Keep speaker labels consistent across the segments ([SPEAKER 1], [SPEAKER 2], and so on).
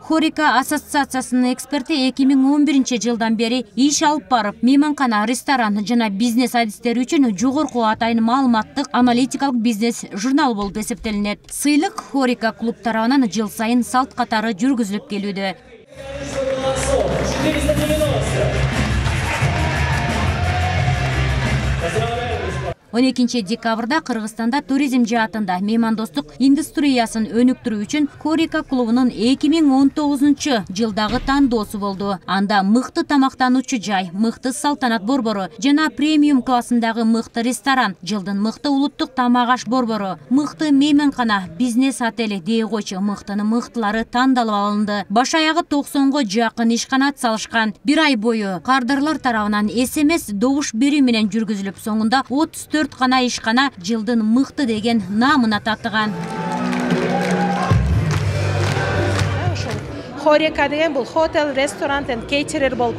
[SPEAKER 1] Хорика ассоциациясынын эксперти 2011-жылдан бери иш алып барып, мейманкана, ресторан жана бизнес адистери үчүн жогорку атайын маалыматтык аналитикалык бизнес журнал болуп эсептелинет. Сыйлык Хорика клуб тарабынан жыл сайын салт катары жүргүзүлүп келүүдө. 12 декабрда Кыргызстанда туризм жаатында меймандостук индустриясын өнүктүрүү үчүн Хорика клубунун 2019-жылдагы тандоосу болду. Анда мыкты тамактануучу жай, мыкты салтанат борбору жана премиум классындагы мыкты ресторан, жылдын мыкты улуттук тамак аш борбору, мыкты мейманкана, бизнес отели дей койчу мыктынын мыктылары тандалып алынды. Баш аягы 90го жакын ишкана салышкан. Бир ай бою кардарлар тарабынан СМС добуш берүү менен жүргүзүлүп, соңунда 34 гана ишкана жылдын мыкты деген наамына татыган.
[SPEAKER 2] Хорика деген бул хотел, ресторант and кейтерер болуп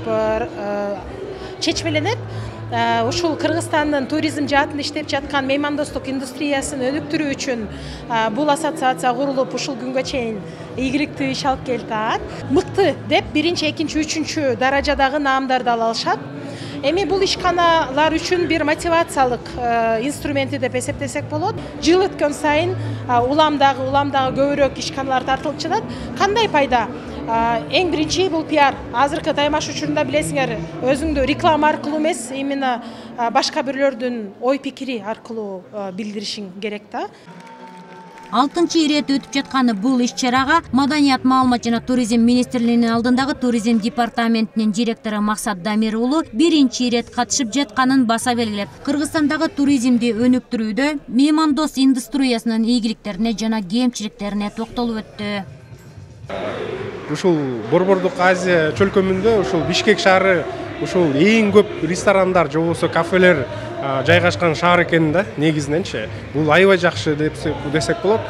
[SPEAKER 2] чечмеленет. Ушул Кыргызстандын туризм жаатында иштеп жаткан меймандостук индустриясын өнүктүрүү үчүн бул ассоциация курулуп, ушул күнгө чейин ийгиликтүү иш алып келип атат. Мыкты деп 1, 2, 3 даражадагы наамдарды ала алышат. Эми бул ишканалар үчүн бир мотивациялык инструменти деп эсептесек болот. Жыл өткөн сайын уламдагы көбүрөөк ишканалар тартылып жатат. Кандай пайда? Эң биринчи бул пиар. Азыркы таймаш учурунда билесиңер, өзүңдү реклама аркылуу эмес, именно башка бирлөрдүн ой пикири аркылуу билдиришиң керек да.
[SPEAKER 1] 6-чы ирет өтүп жаткан бул иш-чарага Маданият, маалымат жана туризм министрлигинин алдындагы туризм департаментинин директору Максат Дамир уулу 1-чи ирет катышып жатканын баса белгилеп, Кыргызстандагы туризмди өнүктүрүүдө меймандос индустриясынын ийгиликтерине жана кемчиликтерине токтолуп өттү.
[SPEAKER 3] Ушул Борбордук Азия чөлкөмүндө ушул Бишкек шаары ушул эң көп ресторандар же болбосо кафелер жайгашкан шаар экен да, негизиненчи. Бул аябай жакшы десек болот.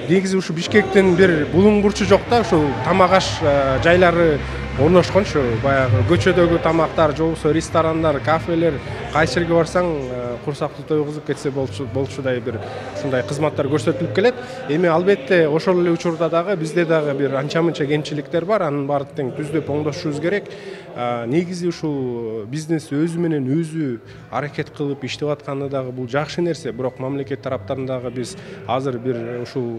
[SPEAKER 3] Негизи ушу Бишкектин бир булуңгурчу жок да, ушул тамак аш жайлары орношкончу. Баягы көчөдөгү тамактар же болбосо ресторандар, кафелер, кайсы жерге барсаң курсакты тойгузуп кетсе болчудай бир ушундай кызматтар көрсөтүлүп келет. Эми албетте ошол эле учурда дагы бизде дагы бир анча-мынча кемчиликтер бар. Анын баарын тең түздөп оңдошубуз керек. Негизи ушул бизнес өзү менен өзү аракет кылып иштеп атканы дагы бул жакшы нерсе. Бирок мамлекет тараптарындагы биз азыр бир ушул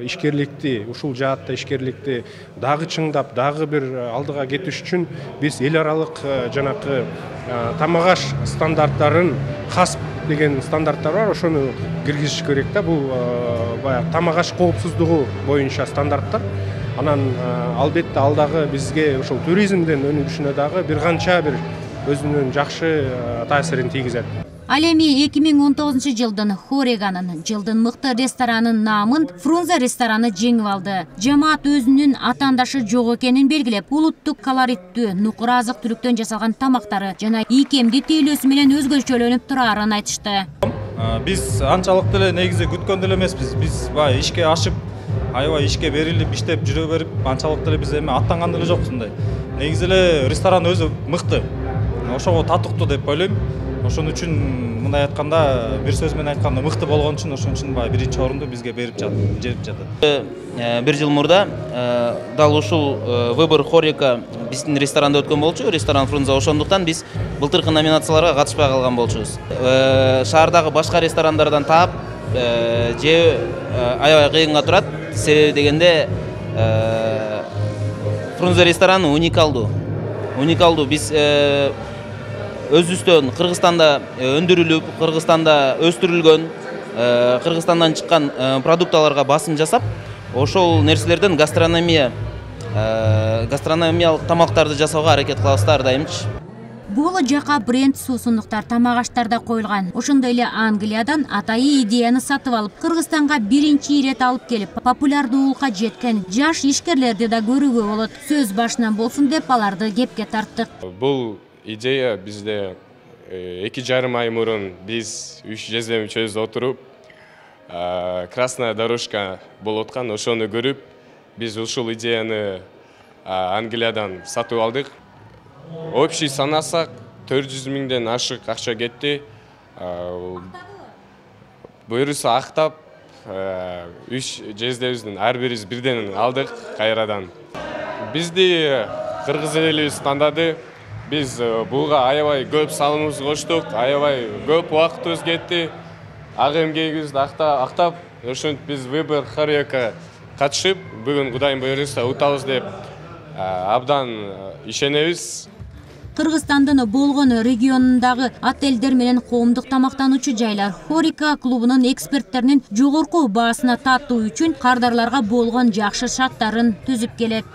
[SPEAKER 3] ишкерликти, ушул жаатта ишкерликти дагы чыңдап, дагы бир алдыга кетиш үчүн биз эл аралык жанакы тамак аш стандарттарын, ХАСП деген стандарттар бар, ошону киргизиш керек да. Бул баягы тамак аш коопсуздугу боюнча стандарттар. Анан албетте алдагы бизге ушул туризмдин өнүгүшүнө дагы бир канча бир өзүнүн жакшы таасирин тийгизет.
[SPEAKER 1] Ал эми 2019-жылдын Хориканын жылдын мыкты ресторанынын наамын Фрунзе рестораны жеңип алды. Жамаат өзүнүн атаандашы жок экенин белгилеп, улуттук колориттүү, нукура азык-түлүктөн жасалган тамактары жана ийкемдүү тейлөөсү менен өзгөчөлөнүп турарын айтышты.
[SPEAKER 4] Биз анчалык деле негизи күткөн деле эмеспиз. Биз баягы ишке ашып, аябай ишке берилип, иштеп жүрө берип, анчалык деле биз эми аттанган деле жокпуз мындай. Негизи эле ресторан өзү мыкты. Ошого татыктуу деп ойлойм. Ошон үчүн мындай айтканда, бир сөз менен айтканда мыкты болгон үчүн ошон үчүн баягы биринчи орунду бизге берип жатат.
[SPEAKER 5] Бир жыл мурда дал ушул выбор Хорика биздин ресторанда өткөн болчу, ресторан Фрунзе. Ошондуктан биз былтыркы номинацияларга катышпай калган болчубуз. Шаардагы башка ресторандардан таап же аябай кыйынга турат. Себеби дегенде Фрунзе рестораны уникалдуу. Биз өзүбүздөн Кыргызстанда өндүрүлүп, Кыргызстанда өстүрүлгөн, Кыргызстандан чыккан продукталарга басым жасап, ошол нерселерден гастрономиялык тамактарды жасоого аракет кылабыз ар дайымчы.
[SPEAKER 1] Бул жака бренд суусундуктар, тамак аштарда коюлган. Ошондой эле Англиядан атайы идеяны сатып алып, Кыргызстанга 1-чи ирет алып келип, популярдуулукка жеткен жаш ишкерлерди да көрүүгө болот. Сөз башынан болсун деп аларды кепке тарттык.
[SPEAKER 6] Бул идея бизде 2,5 ай мурун биз 3 жездем мүчөбүз отуруп, красная дорожка болуп аткан, ошону көрүп, биз ушул идеяны Англиядан сатып алдык. Общий санасак 400 миңден ашык акча кетти. Буюрса актап 3 жездебиздин ар бирибиз бирден алдык кайрадан. бизди кыргыз элибиз тандады. Биз буга аябай көп салымыбызды коштук, аябай көп убактыбыз кетти. Ак эмгегибизди актап, ошентип биз Выбор Хорека катышып, бүгүн Кудайым буйруса утабыз деп абдан ишенебиз.
[SPEAKER 1] Кыргызстандын болгон регионундагы отелдер менен коомдук тамактануучу жайлар Хорека клубунун эксперттеринин жогорку баасына татуу үчүн кардарларга болгон жакшы шарттарын түзүп келет.